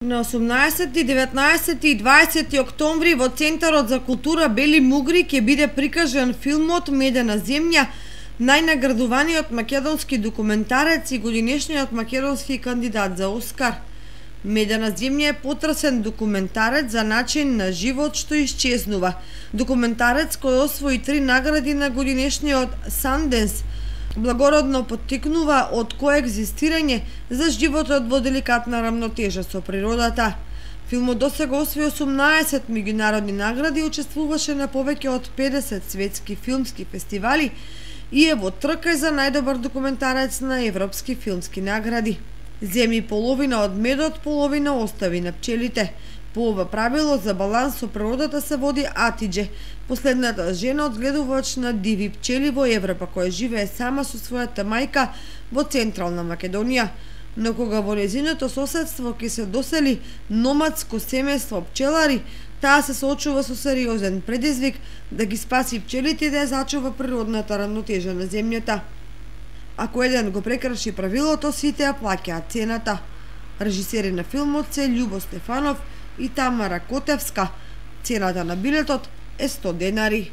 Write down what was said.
На 18, 19 и 20 октомври во Центарот за култура Бели Мугри ќе биде прикажан филмот Медена земја, најнаградуваниот македонски документарец и годинешниот македонски кандидат за Оскар. Медена земја е потресен документарец за начин на живот што исчезнува. Документарец кој освои 3 награди на годинешниот Санденс, благородно поттикнува од коегзистирање за животот во деликатна рамнотежа со природата. Филмот досега освои 18 меѓународни награди, учествуваше на повеќе од 50 светски филмски фестивали и е во трка за најдобар документарец на европски филмски награди. Земи половина од медот, половина остави на пчелите. По ова правило за баланс со природата се води Атидже, последната жена одгледувач на диви пчели во Европа, која живее сама со својата мајка во Централна Македонија. Но кога во незиното соседство ќе се досели номадско семејство пчелари, таа се соочува со сериозен предизвик да ги спаси пчелите и да ја зачува природната рамнотежа на земјата. Ако еден го прекрши правилото, сите ја плаќаат цената. Режисери на филмот се Љубо Стефанов и Тамара Котевска. Цената на билетот е 100 денари.